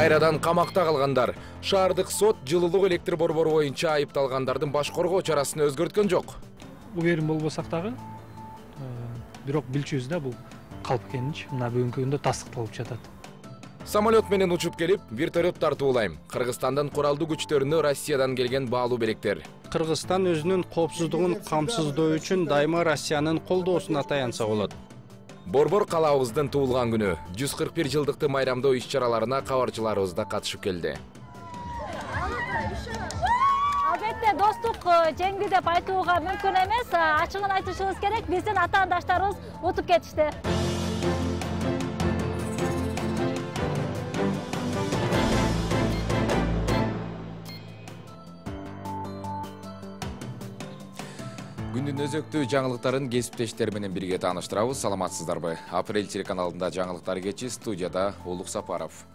Кайрадан камакта калгандар. Шаардык сот жылуулук электр борбору боюнча айыпталгандардын баш коргоо чарасын өзгөрткөн жок. Уверен болбосак дагы, бирок билчүбүз да бул калп экенин мына бүгүнкү күндө тастыкталып жатат. Самолет менен учуп келип, вертолет тартуулайм. Кыргызстандын куралдуу күчтөрүнө Россиядан келген баалуу белектер. Кыргызстан өзүнүн коопсуздугун камсыздоо үчүн дайыма Россиянын колдоосуна таянса болот. Борбор калаабыздын туулган күнү 141 жылдыкты майрамдоо иш-чараларына кабарчыларыбыз да катышып келди. Албетте достук жеңди деп айтууга мүмкүн эмес. Ачыгын айтышыбыз керек, биздин атаандаштарыбыз утуп кетишти. Күндүн өзөктүү жаңылыктарын кесиптештер менен бирге тааныштырабыз. Саламатсыздарбы? Апрель телеканалында жаңылыктар кечи, студияда Улук Сапаров.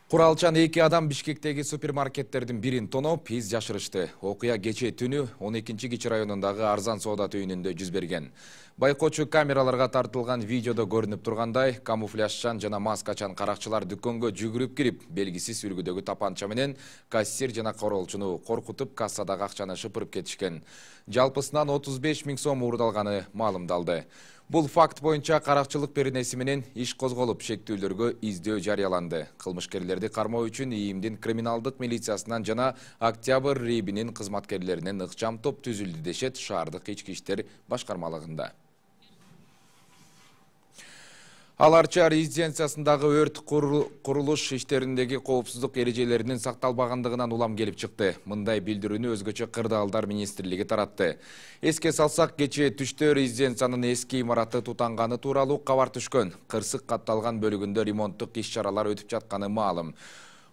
Куралчан 2 адам Бишкектеги супермаркеттердин бирин тоноп, из жашырышты. Окуя кечээ түнү 12-Кичи районундагы арзан соода түйүнүндө жүз берген. Байкоочу камераларга тартылган видеодо көрүнүп тургандай, камуфляжчан жана маскачан каракчылар дүкөнгө жүгүрүп кирип, белгисиз үлгүдөгү тапанча менен кассир жана королчуну коркутуп, кассадагы акчаны шыпырып кетишкен. Жалпысынан 35 000 сом уурдалганы маалымдалды. Бул факт боюнча каракчылык беренеси менен иш козголуп, шектүүлөргө издөө жарыяланды. Кылмышкерлерди кармоо үчүн ИИМдин криминалдык милициясынан жана Октябрь РИБинин кызматкерлеринен ыкчам топ түзүлдү дешет шаардык ички иштер башкармалыгында. Аларча резиденциясындагы өрт курулуш иштериндеги коопсуздук эрежелеринин сакталбагандыгынан улам келип чыкты. Мындай билдирүүнү өзгөчө кырдаалдар министрлиги таратты. Эске салсак, кечээ түштө резиденциянын эски имараты тутанганы тууралуу кабар түшкөн. Кырсык катталган бөлүгүндө ремонттук иш-чаралар өтүп жатканы маалым.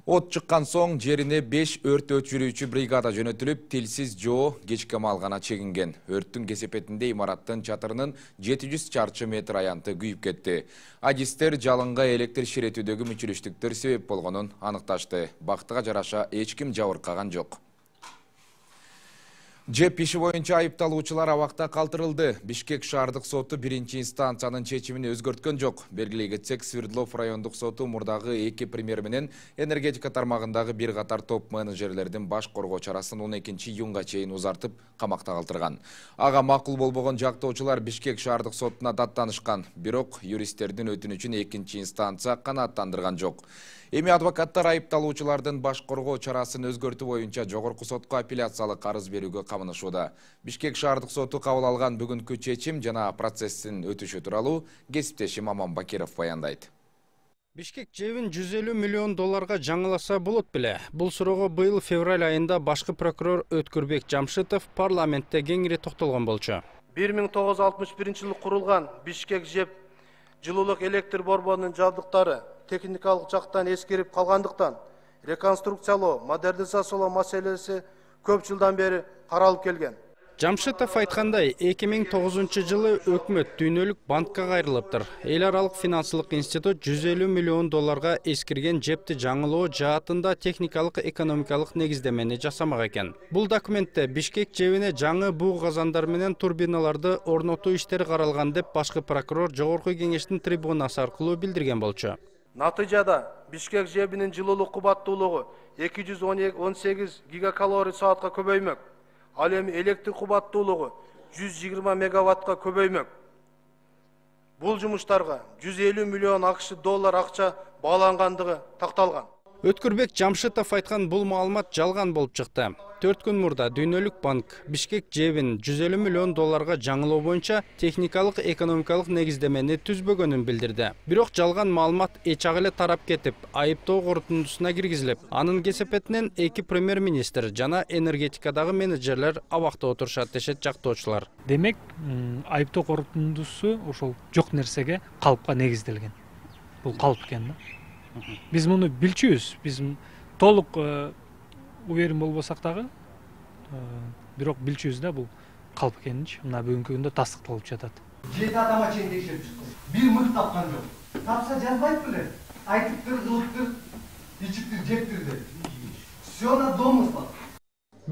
От чыккан соң жерине 5 өрт өчүрүүчү бригада жөнөтүлүп, тилсиз жоо кечке маалгана чегинген. Өрттүн кесепетинде имараттын чатырынын 700 чарчы метр аянты күйүп кетти. Адистер жалынга электр ширетүүдөгү мүчүлүштүктөр себеп болгонун аныкташты. Бактыга жараша эч ким жабыркаган жок. Жеп иши боюнча айыпталуучулар абакта калтырылды. Бишкек шаардык соту биринчи инстанциянын чечимин өзгөрткөн жок. Белгилей кетсек, Свердлов райондук соту мурдагы 2 премьер менен энергетика тармагындагы бир катар топ менеджерлердин баш коргоо чарасын 12-июнга чейин узартып, камакта калтырган. Ага макул болбогон жактоочулар Бишкек шаардык сотуна даттанышкан, бирок юристтердин өтүнүчүн 2-чи инстанция канааттандырган жок. Эми адвокаттар айыпталуучулардын баш коргоо чарасын өзгөртүү боюнча жогорку сотко апелляциялык арыз берүүгө камынышууда. Бишкек шаардык соту кабыл алган бүгүнкү чечим жана процесстин өтүшү тууралуу кесиптешим Аман Бакиров баяндайт. Бишкек жебин 150 миллион долларга жаңыласа болот беле? Бул суроого быйыл февраль айында башкы прокурор Өткүрбек Жамшитов парламентте кеңири токтолгон болчу. 1961-жылы курулган Бишкек жеп жылуулук электр борборунун жабдыктары техникалык жактан эскирип калгандыктан реконструкциялоо, модернизациялоо маселеси көп жылдан бери каралып келген. Жамшитов айткандай, 2009-жылы өкмөт дүйнөлүк банкка кайрылыптыр. Эл аралык финансылык институт 150 миллион долларга эскирген жепти жаңылоо жаатында техникалык экономикалык негиздемени жасамак экен. Бул документте Бишкек жебине жаңы буу казандар менен турбиналарды орнотуу иштери каралган деп башкы прокурор жогорку кеңештин трибунасы аркылуу билдирген болчу. Натыйжада Бишкек жебинин жылуулук кубаттуулугу 218 гигакалорий саатка көбөймөк. Ал эми электр кубаттуулугу 120 мегаваттка көбөймөк. Бул жумуштарга 150 миллион АКШ доллар акча баалангандыгы такталган. Өткүрбек Жамшитов айткан бул маалымат жалган болуп чыкты. 4 күн мурда Дүйнөлүк банк Бишкек жебин 150 миллион долларга жаңылоо боюнча техникалык экономикалык негиздемени түзбөгөнүн билдирди. Бирок жалган маалымат эчак эле тарап кетип, айыптоо корутундусуна киргизилип, анын кесепетинен 2 премьер-министр жана энергетикадагы менеджерлер абакта отурушат дешет жактоочулар. Демек, айыптоо корутундусу ошол жок нерсеге, калпка негизделген. Бул калп экен да. Биз муну билчүбүз, биз толук уверен болбосак дагы, бирок билчүбүз да бул калп экенин мына бүгүнкү күндө тастыкталып жатат. 7 адама чейин текшерип чыкты. Бир мык тапкан жок. Тапса жазбайт беле? Айтыптыр, кылыптыр, ичиптир, жептир деп. Всё на домыслах.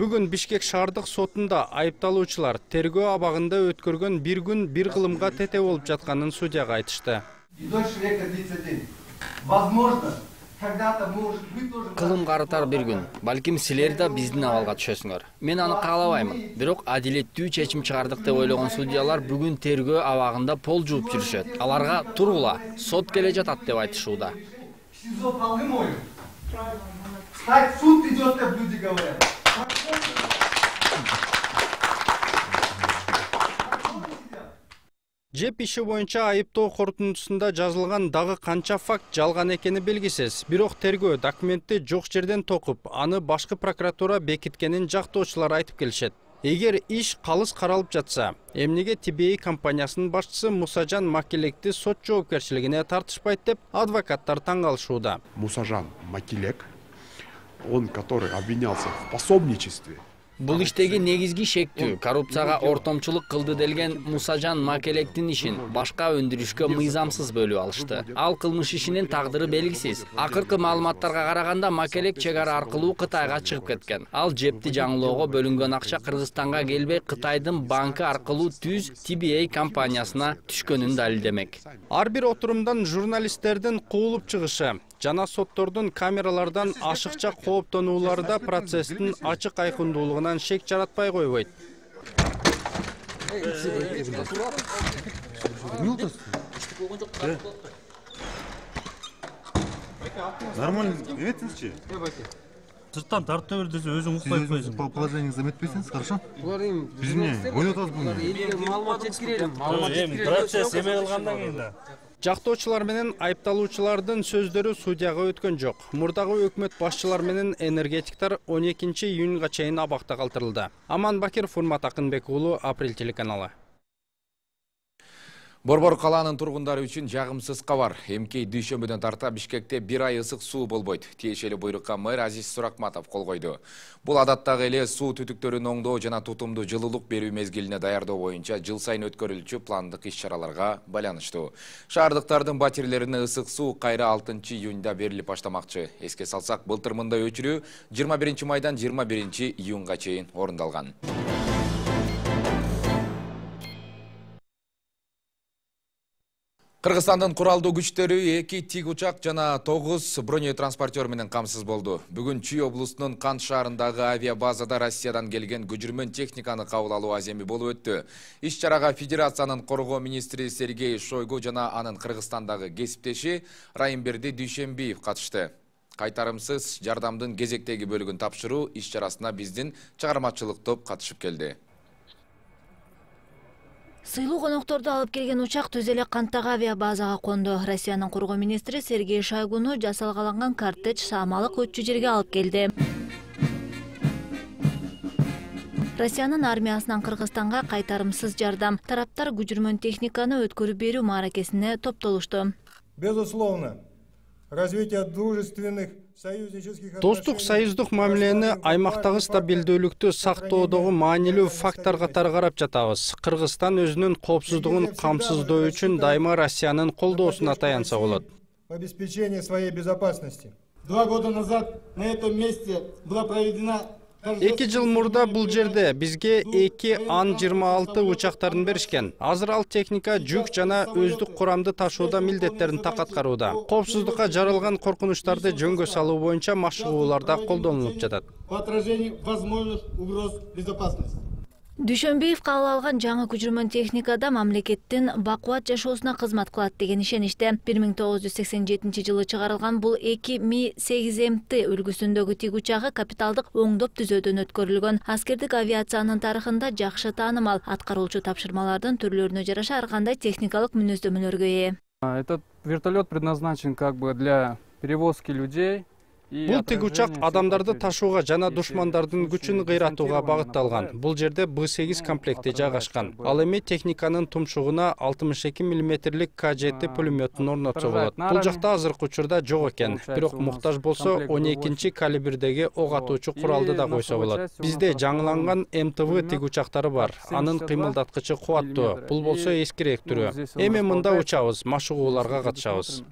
Бүгүн Бишкек шаардык сотунда айыпталуучулар тергөө абагында өткөргөн бир күн бир кылымга тете болуп жатканын судьяга айтышты. И дольше века длится день. Возможно, когда-то может вы тоже... Кылым карытар бир күн. Балким силер да биздин абалга түшөсүңөр. Мен аны каалабаймын. Бирок адилеттүү чечим чыгардык деп ойлогон судьялар бүгүн тергөө абагында пол жууп жүрүшөт. Аларга тургула, сот келе жатат деп айтышууда. СИЗО полы моют. Встать, суд идет, как люди говорят. Жеп иши боюнча айыптоо корутундусунда жазылган дагы канча факт жалган экени белгисиз. Бирок тергөө документти жок жерден токуп, аны башкы прокуратура бекиткенин жактоочулар айтып келишет. Эгер иш калыс каралып жатса, эмнеге TBA компаниясынын башчысы Мусажан Макелекти сот жоопкерчилигине тартышпайт деп адвокаттар таң калышууда. Мусажан Макелек, он, который обвинялся в пособничестве. Бул иштеги негизги шектүү коррупцияга ортомчулук кылды делген Мусажан Макелектин ишин башка өндүрүшкө мыйзамсыз бөлүп алышты. Ал кылмыш ишинин тагдыры белгисиз. Акыркы маалыматтарга караганда Макелек чек ара аркылуу Кытайга чыгып кеткен. Ал жепти жаңылоого бөлүнгөн акча Кыргызстанга келбей Кытайдын банкы аркылуу түз TBA компаниясына түшкөнүн далилдемек. Ар бир отурумдан журналисттердин куулуп чыгышы жана соттордун камералардан ашыкча кооптонуулары да процесстин ачык айкындуулугунан шек жаратпай койбойт. Нормально эметсизчи? Сырттан тартып бер десе өзүң укпай койсуң. По положению эметпесиңиз, хорошо? Биз эмне ойлоп атабыз буну? Маалымат жеткирелим. Процесс эме кылгандан кийин да. Жактоочулар менен айыпталуучулардын сөздөрү судьяга өткөн жок. Мурдагы өкмөт башчылар менен энергетиктер 12 июнга чейин абакта калтырылды. Аман Бакиров, Урмат Акынбек уулу, Апрель телеканалы. Борбор калаанын тургундары үчүн жагымсыз кабар. Эмкей дүйшөмбүдөн тарта Бишкекте бир ай ысык суу болбойт. Тиешелүү буйрукка мэр Азиз Суракматов кол койду. Бул адаттагы эле суу түтүктөрүн оңдоо жана тутумдуу жылуулук берүү мезгилине даярдоо боюнча жыл сайын өткөрүлчү пландык иш-чараларга байланыштуу. Шаардыктардын батирлерине ысык суу кайра 6 июнда берилип баштамакчы. Эске салсак, былтыр мындай өчүрүү 21 майдан 21 июнга чейин орундалган. Кыргызстандын куралдуу күчтөрү 2 тик учак жана 9 бронетранспортер менен камсыз болду. Бүгүн Чүй облусунун Кант шаарындагы авиабазада Россиядан келген көчүрмөн техниканы кабыл алуу аземи болуп өттү. Иш-чарага Федерациянын коргоо министри Сергей Шойгу жана анын Кыргызстандагы кесиптеши Райымберди Дүйшөмбиев катышты. Кайтарымсыз жардамдын кезектеги бөлүгүн тапшыруу иш-чарасына биздин чыгармачылык топ катышып келди. Сыйлуу конокторду алып келген учак түз эле Канттагы авиабазага конду. Россиянын коргоо министри Сергей Шойгуну жасалгаланган кортеж Самалык өтчү жерге алып келди. Россиянын армиясынан Кыргызстанга кайтарымсыз жардам. Тараптар көчүрмөн техниканы өткөрүп берүү мааракесине топтолушту. Безусловно, развитие дружественных Достук союздук мамилени аймактагы стабилдүүлүктү сактоодогу маанилүү фактор катары карап жатабыз. Кыргызстан өзүнүн коопсуздугун камсыздоо үчүн дайыма Россиянын колдоосуна таянса болот. Обеспечение своей безопасности. 2 года назад на этом месте была проведена 2 жыл мурда бул жерде бизге 2 Ан-26 учактарын беришкен. Азыр ал техника жүк жана өздүк курамды ташууда милдеттерин так аткарууда. Коопсуздукка жаралган коркунучтарды жөнгө салуу боюнча машыгууларда колдонулуп жатат. По отражению возможных угроз безопасности. Дүйшөмбиев кабыл алган жаңы көчүрмөн техникада мамлекеттин бакубат жашоосуна кызмат кылат деген ишеничте. 1987 жылы чыгарылган бул 2 Ми-8МТ үлгүсүндөгү тик учагы капиталдык оңдоп түзөөдөн өткөрүлгөн. Аскердик авиациянын тарыхында жакшы таанымал, аткаруучу тапшырмалардын түрлөрүнө жараша ар кандай техникалык мүнөздөмөлөргө ээ. Этот вертолет предназначен как бы для перевозки людей. Бул тик учак адамдарды ташууга жана душмандардын күчүн кыйратууга багытталган. Бул жерде Б8 комплекти жайгашкан. Ал эми техниканын тумшугуна 62 мм К7 пулеметин орнотсо болот. Бул жакта азыркы учурда жок экен. Бирок муктаж болсо 12 калибрдеги ок атуучу куралды да койсо болот. Бизде жаңыланган МТВ тик учактары бар. Анын кыймылдаткычы кубаттуу. Бул болсо эскирээк түрү. Эми мында учабыз, машыгууларга катышабыз.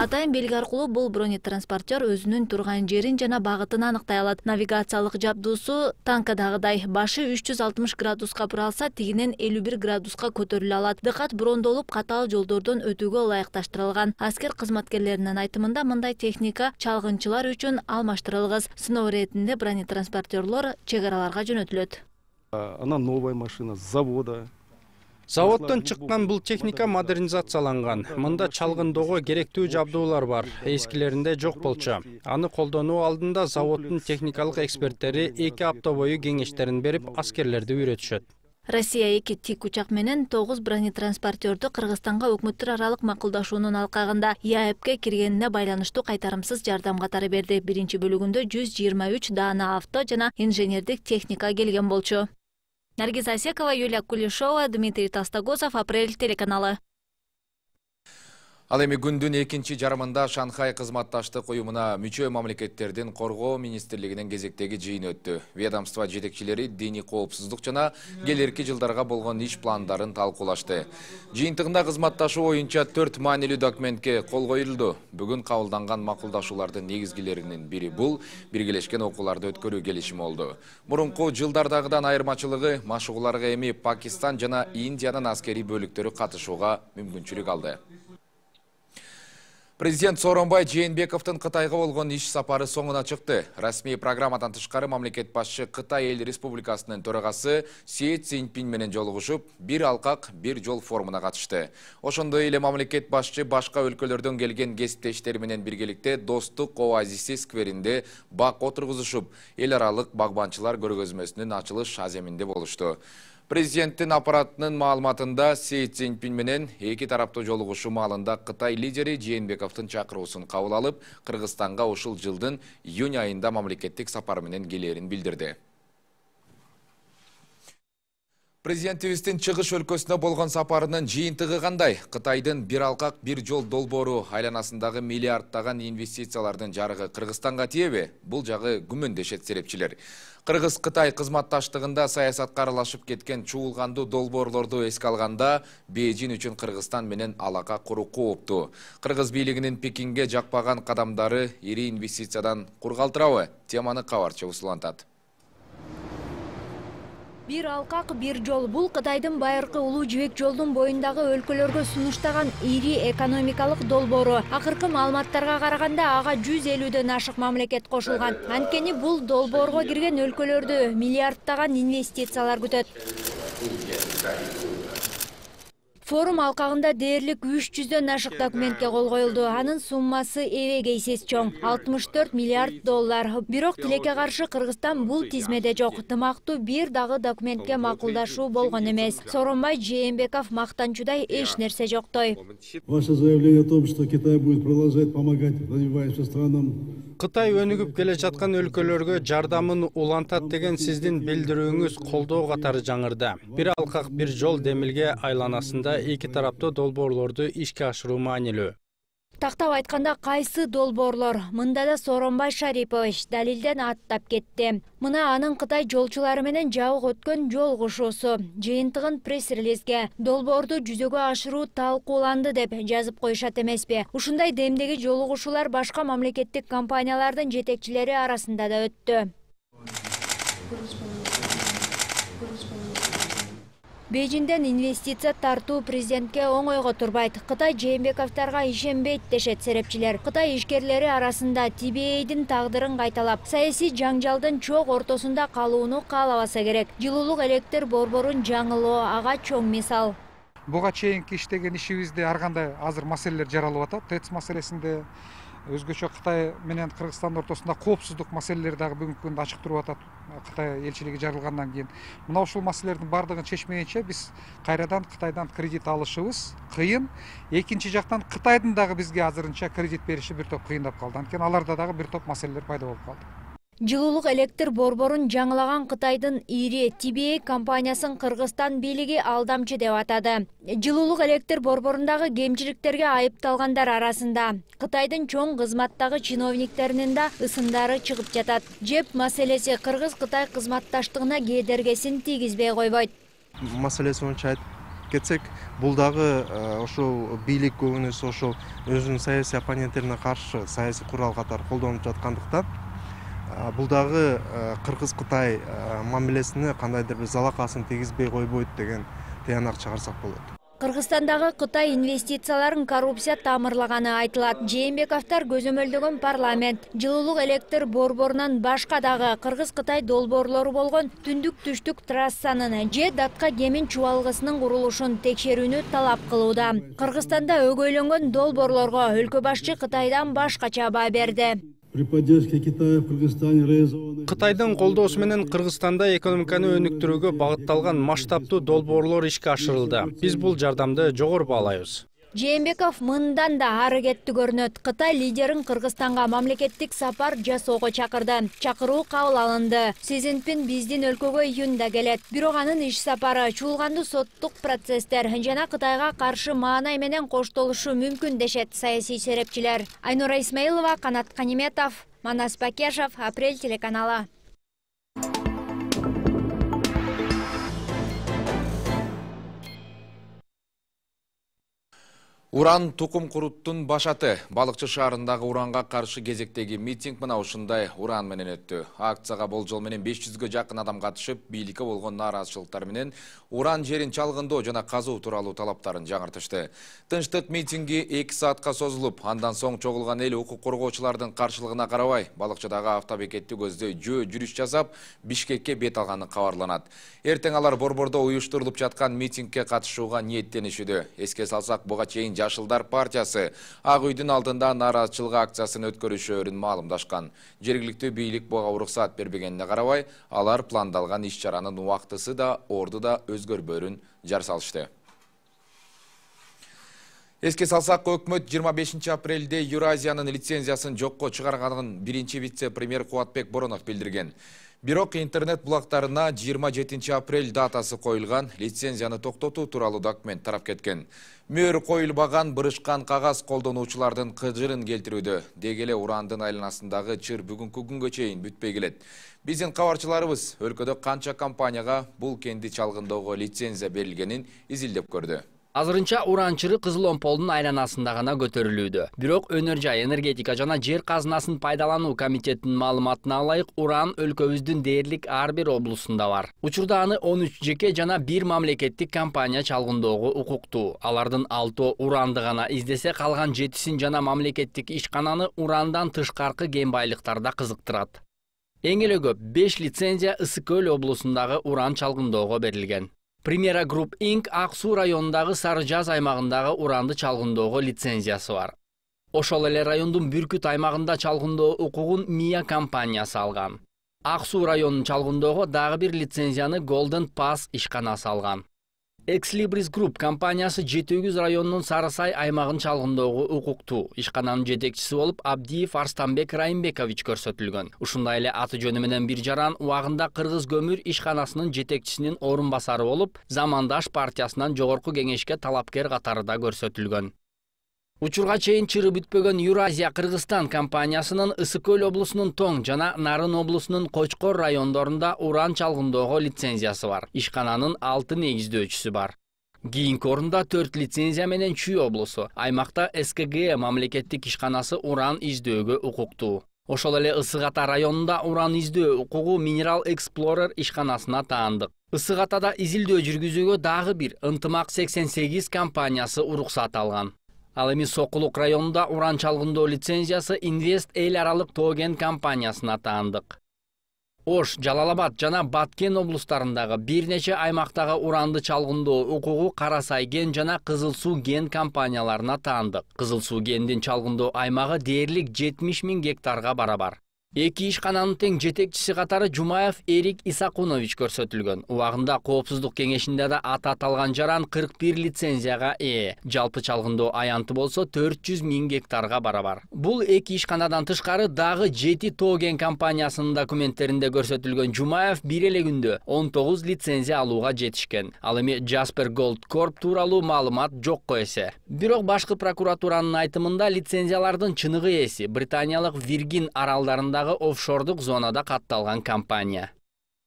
Атайын белги аркылуу бул бронетранспортер өзүнүн турган жерин жана багытын аныктай алат. Навигациялык жабдуусу танкадагыдай башы 360 градуска буралса, тигинен 51 градуска көтөрүлө алат. Дыкат брондолуп, катаал жолдордон өтүүгө ылайыкташтырылган. Аскер кызматкерлеринин айтымында мындай техника чалгынчылар үчүн алмаштырылгыс. Сыноо иретинде бронетранспортерлор чек араларга жөнөтүлөт. Она новая машина с завода. Заводдон чыккан бул техника модернизацияланган. Мында чалгындоого керектүү жабдуулар бар. Эскилеринде жок болчу. Аны колдонуу алдында заводдун техникалык эксперттери 2 апта бою кеңештерин берип, аскерлерди үйрөтүшөт. Россия 2 тик учак менен 9 бронетранспортерду Кыргызстанга өкмөттөр аралык макулдашуунун алкагында ЯЭПке киргенине байланыштуу кайтарымсыз жардам катары берди. Биринчи бөлүгүндө 123 даана авто жана инженердик техника келген болчу. Наргиз Асекова, Юлия Кулешова, Дмитрий Толстогозов, Апрель телеканалы. Ал эми күндүн экинчи жарымында Шанхай кызматташтык уюмуна мүчө мамлекеттердин коргоо министрлигинин кезектеги жыйыны өттү. Ведомство жетекчилери диний коопсуздук жана келерки жылдарга болгон иш пландарын талкуулашты. Жыйынтыгында кызматташуу боюнча 4 маанилүү документке кол коюлду. Бүгүн кабылданган макулдашуулардын негизгилеринин бири бул биргелешкен окууларды өткөрүү келишими болду. Мурунку жылдардагыдан айырмачылыгы машыгууларга эми Пакистан жана Индиянын аскери бөлүктөрү катышууга мүмкүнчүлүк алды. Президент Сооронбай Жээнбековдун Кытайга болгон иш сапары соңуна чыкты. Расмий программадан тышкары мамлекет башчы Кытай эл республикасынын төрагасы Си Цзиньпин менен жолугушуп, бир алкак, бир жол форумуна катышты. Ошондой эле мамлекет башчы башка өлкөлөрдөн келген кесиптештери менен биргеликте Достук оазиси скверинде бак отургузушуп, эл аралык багбанчылар көргөзмөсүнүн ачылыш аземинде болушту. Президенттин аппаратынын маалыматында Си Цзиньпин менен эки тараптуу жолугушуу маалында Кытай лидери Жээнбековдун чакыруусун кабыл алып, Кыргызстанга ушул жылдын июнь айында мамлекеттик сапар менен келерин билдирди. Президентибиздин чыгыш өлкөсүнө болгон сапарынын жыйынтыгы кандай? Кытайдын бир алкак, бир жол долбоору айланасындагы миллиарддаган инвестициялардын жарыгы Кыргызстанга тиеби? Бул жагы күмөндөшөт серепчилер. Кыргыз-Кытай кызматташтыгында саясатка аралашып кеткен чуулгандуу долбоорлорду эске алганда, Бейжин үчүн Кыргызстан менен алака куруу кооптуу. Кыргыз бийлигинин Пекинге жакпаган кадамдары ири инвестициядан кур калтырабы? Теманы кабарчы усулантат. Бир алкак, бир жол. Бул Кытайдын байыркы улуу жибек жолдун боюндагы өлкөлөргө сунуштаган ири экономикалык долбоору. Акыркы маалыматтарга караганда ага 150дөн ашык мамлекет кошулган. Анткени бул долбоорго кирген өлкөлөрдү миллиарддаган инвестициялар күтөт. Форум алкагында дээрлик 300дөн ашык документке кол коюлду. Анын суммасы эбеге эсес чоң, 64 миллиард доллар. Бирок тилекке каршы Кыргызстан бул тизмеде жок. Тымактуу бир дагы документке макулдашуу болгон эмес. Сооронбай Жээнбеков мактанчудай эч нерсе жоктой. Ваше заявление о том, что Китай будет продолжать помогать развивающимся странам. Кытай өнүгүп келе жаткан өлкөлөргө жардамын улантат деген сиздин билдирүүңүз колдоо катары жаңырды. Бир алкак, бир жол демилге айланасында эки тараптуу долбоорлорду ишке ашыруу маанилүү. Тактап айтканда кайсы долбоорлор? Мында да Сооронбай Шарипович далилден аттап кетти. Мына анын Кытай жолчулары менен жабык өткөн жолугушуусу. Жыйынтыгын пресс-релизге долбоорду жүзөгө ашыруу талкууланды деп жазып коюшат эмеспи? Ушундай демдеги жолугушуулар башка мамлекеттик компаниялардын жетекчилери арасында да өттү. Бейжинден инвестиция тартуу президентке оңойго турбайт. Кытай Жээнбековторго ишенбейт дешет серепчилер. Кытай ишкерлери арасында TBA'дин тагдырын кайталап, саясий жаңжалдын чок ортосунда калууну каалабаса керек. Жылуулук электр борборун жаңылоо ага чоң мисал. Буга чейинки иштеген ишибизде ар кандай азыр маселелер жаралып атат. ТЭЦ маселесинде, өзгөчө Кытай менен Кыргызстан ортосунда коопсуздук маселелери дагы бүгүнкү күндө ачык туруп атат. Кытай элчилиги жарылгандан кийин мына ушул маселелердин бардыгын чечмейинче биз кайрадан Кытайдан кредит алышыбыз кыйын. Экинчи жактан Кытайдын дагы бизге азырынча кредит бериши бир топ кыйындап калды. Анткени аларда дагы бир топ маселелер пайда болуп калды. Жылуулук электр борборун жаңылаган Кытайдын ири TBA компаниясын Кыргызстан бийлиги алдамчы деп атады. Жылуулук электр борборундагы кемчиликтерге айыпталгандар арасында Кытайдын чоң кызматтагы чиновниктеринин да ысымдары чыгып жатат. Жеп маселеси Кыргыз-Кытай кызматташтыгына кедергесин тийгизбей койбойт. Маселеси онча кетсек, бул дагы ошол бийлик көбүнөсү ошол өзүнүн саясий оппоненттерине каршы саясий курал катары колдонуп жаткандыктан бул дагы Кыргыз-Кытай мамилесине кандайдыр бир залакасын тийгизбей койбойт деген тыянак чыгарсак болот. Кыргызстандагы Кытай инвестицияларын коррупция тамырлаганы айтылат. Жээнбековдор көзөмөлдөгөн парламент жылуулук электр борборунан башка дагы Кыргыз-Кытай долбоорлору болгон түндүк-түштүк трассанын же датка кемин чубалгысынын курулушун текшерүүнү талап кылууда. Кыргызстанда өгөйлөнгөн долбоорлорго өлкө башчы Кытайдан башкача баа берди. При поддержке Китая в Кыргызстане реализованы... Кытайдын колдоосу менен Кыргызстанда экономиканы өнүктүрүүгө багытталган масштабтуу долбоорлор ишке ашырылды. Биз бул жардамды жогору баалайбыз. Жээнбеков мындан да ары кетти көрүнөт. Кытай лидерин Кыргызстанга мамлекеттик сапар жасоого чакырды. Чакыруу кабыл алынды. Си Цзиньпин биздин өлкөгө июнда келет. Бирок анын иш сапары чуулгандуу соттук процесстер жана Кытайга каршы маанай менен коштолушу мүмкүн дешет саясий серепчилер. Айнура Исмаилова, Канат Каниметов, Манас Бакешев, Апрель телеканалы. Уран тукум куруттун башаты. Балыкчы шаарындагы уранга каршы кезектеги митинг мына ушундай уран менен өттү. Акцияга болжол менен 500гө жакын адам катышып, бийликке болгон нааразычылыктар менен уран жерин чалгындоо жана казуу тууралуу талаптарын жаңыртышты. Тынчтык митинги 2 саатка созулуп, андан соң чогулган эл укук коргоочулардын каршылыгына карабай, балыкчыдагы автобекетти көздөй жүрүш жасап, Бишкекке бет алганы кабарланат. Эртең алар борбордо уюштурулуп жаткан митингке катышууга ниеттенишүүдө. Эске салсак, буга чейин Жашылдар партиясы Ак үйдүн алдында нааразычылык акциясын өткөрүшөрүн маалымдашкан. Жергиликтүү бийлик буга уруксат бербегенине карабай, алар пландалган иш-чаранын убактысы да, орду да өзгөрбөрүн жар салышты. Эске салсак, өкмөт 25 апрелде Евразиянын лицензиясын жокко чыгарганын биринчи вице-премьер Кубатбек Боронов билдирген. Бирок интернет булактарына 27 апрель датасы коюлган, лицензияны токтотуу тууралуу документ тарап кеткен. Мөр коюлбаган бырышкан кагаз колдонуучулардын кыжырын келтирүүдө. Деги эле урандын айланасындагы чыр бүгүнкү күнгө чейин бүтпөй келет. Биздин кабарчыларыбыз өлкөдө канча компанияга бул кенди чалгындоого лицензия берилгенин изилдеп көрдү. Азырынча уран чыры Кызыл Омполдун айланасында гана көтөрүлүүдө. Бирок Өнөр жай, энергетика жана жер казынасын пайдалануу комитетинин маалыматына ылайык, уран өлкөбүздүн дээрлик ар бир облусунда бар. Учурда аны 13 жеке жана 1 мамлекеттик компания чалгындоого укуктуу. Алардын 6 уранды гана издесе, калган 7-син жана мамлекеттик ишкананы урандан тышкаркы кен байлыктарда кызыктырат. Эң эле көп 5 лицензия Ысык Көл облусундагы уран чалгындоого берилген. Примера Group Inc. Ак Суу районундагы Сары Жаз аймагындагы уранды чалгындоого лицензиясы бар. Ошол эле райондун Бүркүт аймагында чалгындоо укугун Мия компаниясы алган. Ак Суу районун чалгындоого дагы бир лицензияны Golden Pass ишканасы алган. Exlibris Group компаниясы Жети-Өгүз районунун Сарысай аймагын чалгындоого укуктуу. Ишкананын жетекчиси болуп Абдиев Арстанбек Райымбекович көрсөтүлгөн. Ушундай эле аты жөнү менен бир жаран убагында Кыргыз көмүр ишканасынын жетекчисинин орун басары болуп, Замандаш партиясынан жогорку кеңешке талапкер катары да көрсөтүлгөн. Учурга чейин чыры бүтпөгөн Евразия Кыргызстан компаниясынын Ысык Көл облусунун Тоң жана Нарын облусунун Кочкор райондорунда уран чалгындоого лицензиясы бар. Ишкананын 6 негиздөөчүсү бар. Кийинки орунда 4 лицензия менен Чүй облусу. Аймакта СКГ мамлекеттик ишканасы уран издөөгө укуктуу. Ошол эле Ысык Ата районунда уран издөө укугу Mineral Explorer ишканасына таандык. Ысык Атада изилдөө жүргүзүүгө дагы бир Ынтымак 88 компаниясы уруксат алган. Ал эми Сокулук районунда уран чалгындоо лицензиясы Инвест эл аралык Тоген компаниясына таандык. Ош, Жалалабад жана Баткен облустарындагы бир нече аймактагы уранды чалгындоо укугу Карасай кен жана Кызыл Суу кен компанияларына таандык. Кызыл Суу кендин чалгындоо аймагы дээрлик 70 000 гектарга барабар. Эки ишкананын тең жетекчиси катары Жумаев Эрик Исакунович көрсөтүлгөн. Убагында Коопсуздук кеңешинде да аты аталган жаран 41 лицензияга ээ. Жалпы чалгындоо аянты болсо 400 000 гектарга барабар. Бул эки ишканадан тышкары дагы 7 Тоген компаниясынын документтеринде көрсөтүлгөн Жумаев бир эле күндө 19 лицензия алууга жетишкен. Ал эми Jasper Gold Corp тууралуу маалымат жокко эсе. Бирок башкы прокуратуранын айтымында лицензиялардын чыныгы ээси британиялык Виргин аралдарында офшордук зонада катталган компания.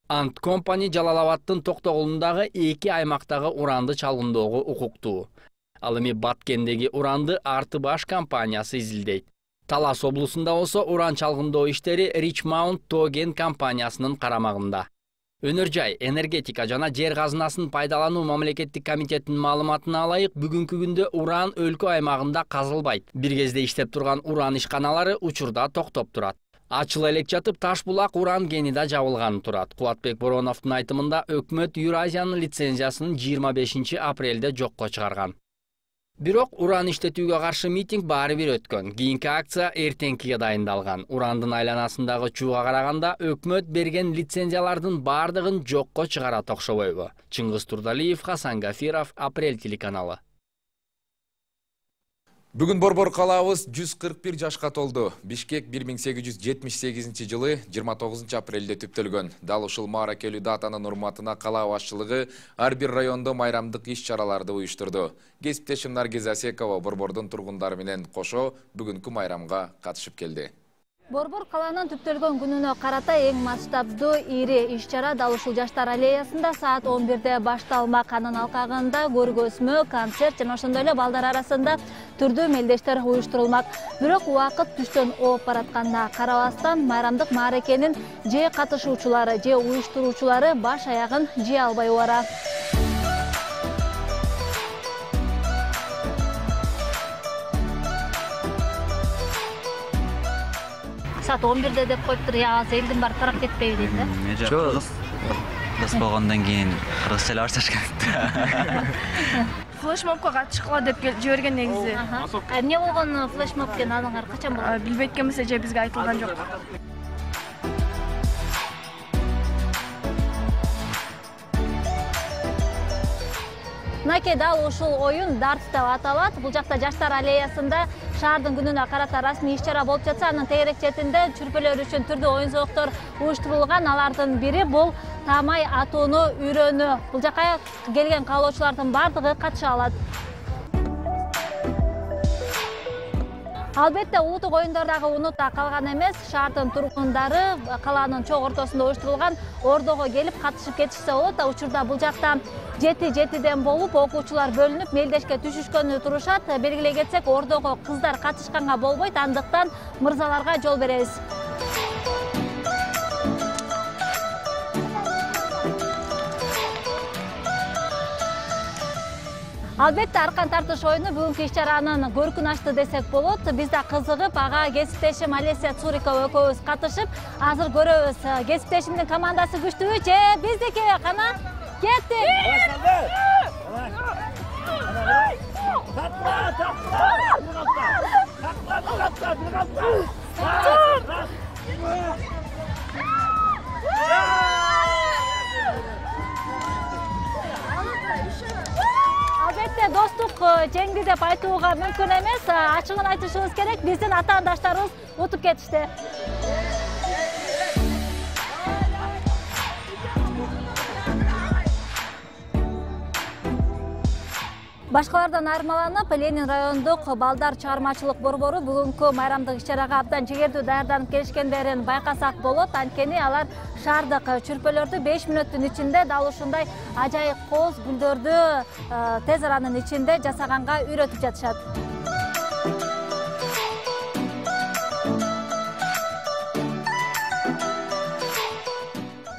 Ant Company Жалал Абадтын Токтогулундагы 2 аймактагы уранды чалгындоого укуктуу. Ал эми Баткендеги уранды Арты Баш компаниясы изилдейт. Талас облусунда болсо уран чалгындоо иштери Richmount Togen компаниясынын карамагында. Өнөр жай энергетика жана жер казынасын пайдалануу мамлекеттик комитетинин маалыматына алайык, бүгүнкү күндө уран өлкө аймагында казылбайт. Бир кезде иштеп турган уран ишканалары учурда токтоп турат. Ачыл элек жатып Таш булак уран кени да жабылганы турат. Кубатбек Бороновдун айтымында өкмөт Юразиянын лицензиясын 25 апрелде жокко чыгарган. Бирок уран иштетүүгө каршы митинг баары бир өткөн. Кийинки акция эртеңкиге дайындалган. Урандын айланасындагы чууга караганда өкмөт берген лицензиялардын баардыгын жокко чыгарат окшобойбу? Чыңгыз Турдалиев, Хасан Гафиров, Апрель телеканалы. Бүгүн Борбор калаабыз 141 жашка толду. Бишкек 1878 жылы 29 апрелде түптөлгөн. Дал ушул мааракелүү датанын урматына калаа башчылыгы ар бир райондо майрамдык иш-чараларды уюштурду. Кесиптешим Наргиз Асекова Борбордун тургундары менен кошо бүгүнкү майрамга катышып келди. Борбор калаанын түптөлгөн күнүнө карата эң масштабдуу ири иш-чара дал ушул Жаштар аллеясында саат 11-де башталмак. Анын алкагында көргөзмө, концерт жана ошондой эле балдар арасында түрдүү мелдештер уюштурулмак. Бирок убакыт түштөн ооп баратканына карабастан майрамдык мааракенин же катышуучулары, же уюштуруучулары баш аягын жие албай убара. Saat 11'de деп коюптур, я элдин баары тарап кетпейби дейт да. Жок, кыргыз болгондон кийин кыргыз тили башташкан. Флешмобко катышкыла деп жиберген негизи. Эмне болгон флешмоб экен, аныңар качан болгон? Билбейт экенбиз, же бизге айтылган жок. Мынакей дал ушул оюн дартс деп аталат. Бул жакта Жаштар аллеясында шаардын күнүнө карата расмий иш-чара болуп жатса, анын тегерек четинде чүрпөлөр үчүн түрдүү оюн-зооктор уюштурулган. Алардын бири бул таамай атууну үйрөнүү. Бул жака келген каалоочулардын бардыгы катыша алат. Албетте улуттук оюндар дагы унутта калган эмес. Шаардын тургундары калаанын чоң ортосунда уюштурулган ордого келип катышып кетишсе болот. Учурда бул жакта 7-7ден болуп окуучулар бөлүнүп мелдешке түшүшкөнү турушат. Белгилей кетсек, ордого кыздар катышканга болбойт, андыктан мырзаларга жол беребиз. Албетте аркан тартыш оюну бүгүнкү иш-чаранын көркүн ачты десек болот. Биз да кызыгып, ага кесиптешим Олеся Цурикова экөөбүз катышып, азыр көрөбүз. Кесиптешимдин командасы күчтүүбү же биздики? Кана кеттик. Албетте достук жеңди деп айтууга мүмкүн эмес. Ачыгын айтышыбыз керек, биздин атаандаштарыбыз утуп кетишти. Башкалардан айырмаланып, Ленин райондук балдар чыгармачылык борбору бүгүнкү майрамдык иш-чарага абдан жегердүү даярданып келишкендерин байкасак болот. Анткени алар шаардык чүрпөлөрдү 5 мүнөттүн ичинде дал ушундай ажайып коз гүлдөрдү тез аранын ичинде жасаганга үйрөтүп жатышат.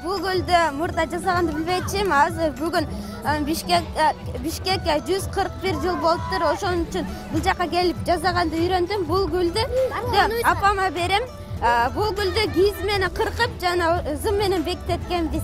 Бул гүлдү мурда жасаганды билбейчимин, азыр бүгүн Бишкекке 141 жыл болуптур. Ошон үчүн бул жака келип жасаганды үйрөндүм. Бул гүлдү апама берем. Бул гүлдү кииз менен кыркып жана ызым менен бекитеткенбиз.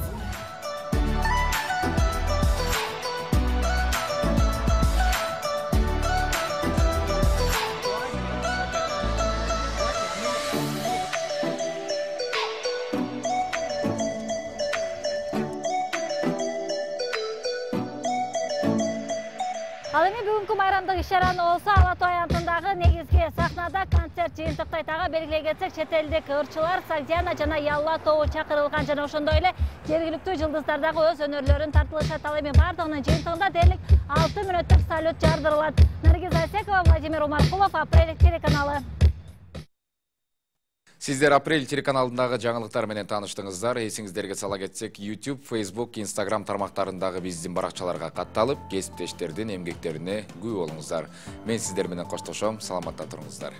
Ал эми бүгүнкү майрамдык иш-чараны болсо Ала Тоо аянтындагы негизги сахнада концерт жыйынтыктайт. Ага белгилей кетсек, чет элдик ырчылар Сагдиана жана Ялла тобу чакырылган жана ошондой эле жергиликтүү жылдыздар дагы өз өнөрлөрүн тартылышат. Ал эми бардыгынын жыйынтыгында дээрлик 6 мүнөттүк салют жардырылат. Наргиз Асекова, Владимир Умаркулов, Апрель телеканалы. Сиздер Апрель телеканалындагы жаңылыктар менен тааныштыңыздар. Эсиңиздерге сала кетсек, YouTube, Facebook, Instagram тармактарындагы биздин баракчаларга катталып, кесиптештердин эмгектерине күбө болуңуздар. Мен сиздер менен коштошом. Саламатта туруңуздар.